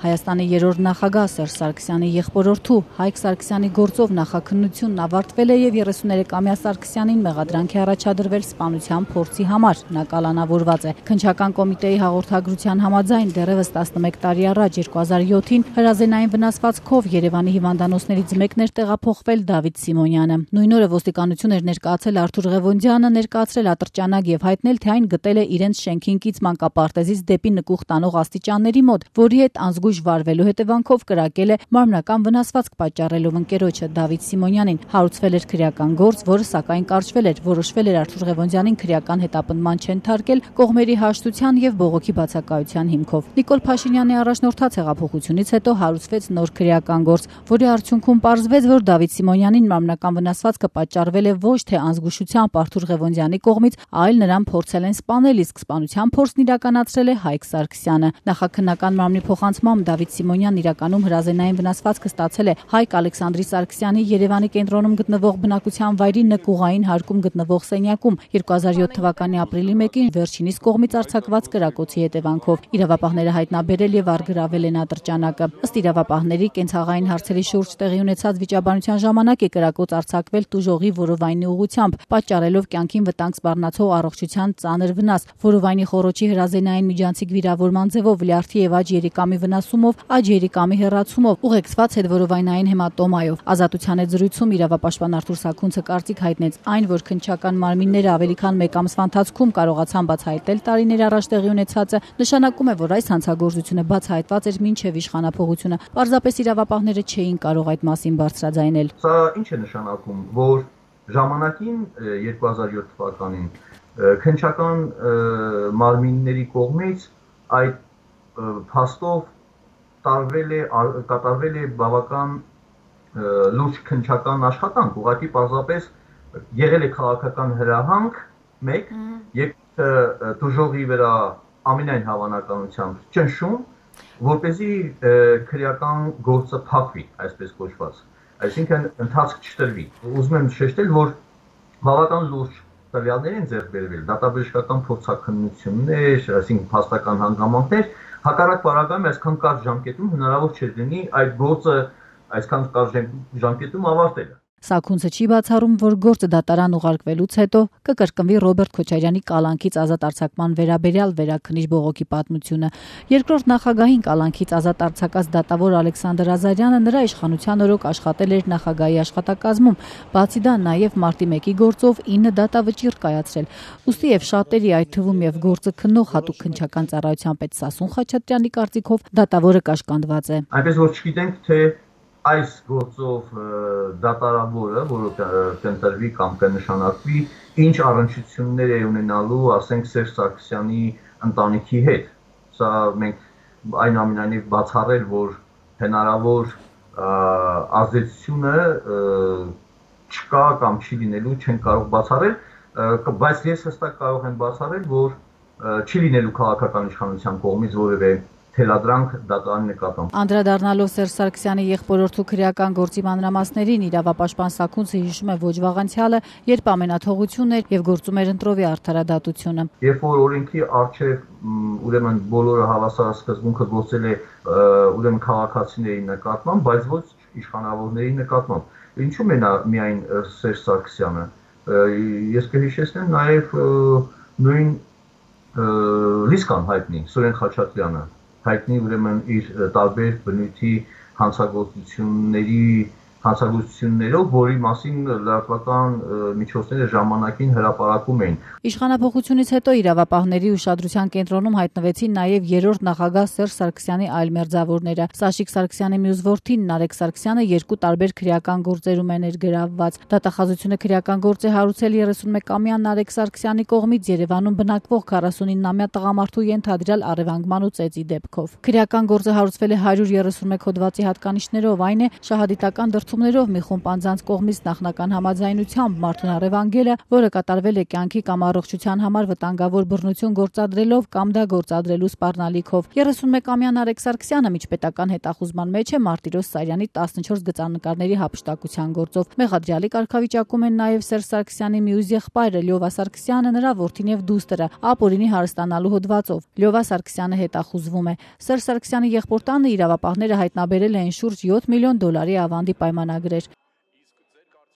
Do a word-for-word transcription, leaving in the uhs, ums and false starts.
Հայաստանի երրորդ նախագահ Սերժ Սարգսյանի եղբորորդու Հայկ Սարգսյանի գործով նախաքննությունն ավարտվել է եւ երեսուներեքամյա Սարգսյանին մեղադրանք է առաջադրվել սպանության փորձի համար։ Նա կալանավորված է։ Քննչական կոմիտեի հաղորդագրության համաձայն դեռևս տասնմեկ տարի առաջ երկու հազար յոթին հրազենային վնասվածքով Երևանի հիվանդանոցներից մեկն էր տեղափոխվել Դավիթ Սիմոնյանը։ Նույն օրը ոստիկանություն էր ներկայացել Արթուր Ղևոնդյանը, ներկայացրել ատրճանակ եւ հայտնել, թե այն գտել է իրենց շենքին կից մանկապարտեզից դեպի նկուղ տանող աստիճանների մոտ, որի հետ անզգույշ վարվելու հետևանքով կրակել է մարմնական վնասվածք պատճառելով ընկերոջը Դավիթ Սիմոնյանին։ Հարուցվել էր քրեական գործ, որը սակայն կարճվել էր։ Որոշվել էր Արթուր Ղևոնդյանին քրեական հետապնդման չընթարկել կողմերի հաշտության եւ բողոքի բացակայության հիմքով։ Նիկոլ Փաշինյանի առաջնորդած հեղափոխությունից հետո հարուցվեց նոր քրեական գործ, որի արդյունքում պարզվեց, որ Դավիթ Սիմոնյանին մարմնական վնասվածքը պատճառվել է ոչ թե անզգուշությամբ Արթուր Ղևոնդյանի կողմից, այլ նրան փորձել են սպանել, իսկ սպանության փորձն իրականացրել է Հայկ Սարգսյանը։ Նախաքննական մարմնի փոխանցմամբ Դավիթ Սիմոնյանն իրականում հրազենային վնասվածքը ստացել է Հայկ Ալեքսանդրի Սարգսյանի Երևանի կենտրոնում գտնվող բնակության վայրի նկուղային հարկում գտնվող սենյակում երկու հազար յոթ թվականի ապրիլի մեկին վերջինիս կողմից արձակված կրակոցի հետևանքով։ Իրավապահները հայտնաբերել եւ արգրավել են ատրճանակը։ Ըստ իրավապահների, կենցաղային հարցերի շուրջ տեղի ունեցած վիճաբանության ժամանակ է կրակոց արձակվել տուժողի որովայնի ուղղությամբ, պատճառելով կյանքին վտանգ սպառնացող առողջության ծանր վնաս։ Որովայնի խոռոչի հրազենային միջանցիկ վիրավորման ձևով լյարդի եւ աջ երիկամի վնասումով, աջ երիկամի հեռացումով, ուղեկցված հետվորովայնային հեմատոմայով։ Ազատության հետ զրույցում իրավապաշտպան Արթուր Սաքունցը կարծիք հայտնեց այն, որ քննչական մարմինները ավելի քան մեկ ամսվա ընթացքում կարողացան բացահայտել տարիներ առաջ տեղի ունեցածը, նշանակում է, որ այս հանցագործությունը բացահայտված էր մինչև իշխանափոխությունը։ Պարզապես իրավապահները չէին կարող այդ մասին բարձրաձայնել։ Սա ինչ է նշանակում, որ ժամանակին երկու հազար յոթ թվականին քննչական մարմինների կողմից այդ փաստով տարվել է կատարվել է բավական լուրջ քննչական աշխատանք, ուղղակի պարզապես եղել է քաղաքական հրահանգ մեկ, երբ տուժողի վրա ամենայն հավանականությամբ ճնշում, որպեսզի քրեական գործը փակվի, այսպես կոչված, այսինքն ընթացք չտրվի։ Ուզում եմ շեշտել, որ բավական լուրջ տվյալներ են ձեռք բերվել, դատաբժշկական փորձաքննություններ, այսինքն փաստական հանգամանքներ, հակառակ պարագայում այսքան կարճ ժամկետում հնարավոր չէր լինի այդ գործը այսքան կարճ ժամկետում ավարտելը։ Սաքունցը չի բացառում, որ գործը դատարան ուղարկվելուց հետո կկրկնվի Ռոբերտ Քոչարյանի կալանքից ազատ արձակման վերաբերյալ վերաքննիչ բողոքի պատմությունը։ Երկրորդ նախագահին կալանքից ազատ արձակած դատավոր Ալեքսանդր Ազարյանը նրա իշխանության օրոք աշխատել էր նախագահի աշխատակազմում, բացի դա նաև մարտի մեկի գործով ինը դատավճիռ կայացրել։ Ուստի եւ շատերի, այդ թվում եւ գործը քննող հատուկ քննչական ծառայության պետ Սասուն Խաչատրյանի կարծիքով դատավորը կաշկանդված է։ Այնպես որ չգիտենք, թե այս գործով դատարավորը, որը կընտրվի կամ կնշանակվի, ինչ առնչություններ է ունենալու, ասենք, Սերժ Սարգսյանի ընտանիքի հետ։ Սա մենք այնուամենայնիվ բացառել, որ հնարավոր ազդեցությունը չկա կամ չի լինելու, չեն կարող բացառել, բայց ես հստակ կարող եմ բացառել, որ չի լինելու քաղաքական իշխանության կողմից որևէ թելադրանք դատարանի նկատմամբ։ Անդրադառնալով Սերժ Սարգսյանի եղբորորդու քրեական գործի մանրամասներին, իրավապաշտպան Սաքունցը հիշում է ոչ վաղ անցյալը, երբ ամենաթողությունն էր եւ գործում էր ընտրովի արդարադատությունը։ Երբ որ օրենքի առջև ուրեմն բոլորը հավասարասկզբունքը գործել է ուրեմն քաղաքացիների նկատմամբ, բայց ոչ իշխանավորների նկատմամբ։ Ինչու՞ մենա միայն Սերժ Սարգսյանը։ Ես կհիշեցնեմ նաեւ նույն Լիսկան հայտնի Սուրեն Խաչատրյանը, հայտնի ուրեմն իր տարբեր բնույթի հանցագործությունների հանցագործություններով, որի մասին լրատվական միջոցները ժամանակին հրապարակում էին։ Իշխանափոխությունից հետո իրավապահների ուշադրության կենտրոնում հայտնվեցին նաև երրորդ նախագահ Սերժ Սարգսյանի այլ մերձավորները։ Սաշիկ Սարգսյանի մյուս որդին Նարեկ Սարգսյանը երկու տարբեր քրեական գործերում է ներգրավված։ Դատախազությունը քրեական գործ է հարուցել երեսունմեկամյա Նարեկ Սարգսյանի կողմից Երևանում բնակվող քառասունինամյա տղամարդու ենթադրյալ առևանգման ու ծեծի դեպքով։ Քրեական գործը հարուցվել է հարյուր երեսունմեկ հոդվածի հատկանիշներով, այն է շահադիտական դրդում զգացումներով մի խումբ անձանց կողմից նախնական համաձայնությամբ մարդուն առևանգելը, որը կատարվել է կյանքի կամ առողջության համար վտանգավոր բռնություն գործադրելով կամ դա գործադրելու սպառնալիքով։ երեսունմեկամյա Նարեկ Սարգսյանը միջպետական հետախուզման մեջ է Մարտիրոս Սարյանի տասնչորս գծանկարների հափշտակության գործով։ Մեղադրյալի կարգավիճակում են նաև Սերժ Սարգսյանի մյուս եղբայրը Լյովա Սարգսյանը, նրա որդին եւ դուստրը ապօրինի հարստանալու հոդվածով։ Լյովա Սարգսյանը հետախուզվում է։ Սերժ Սարգսյանի եղբոր տանը իրավապահները հայտնաբերել էին շուրջ յոթ միլիոն դոլարի ավանդի պայմանագրեր։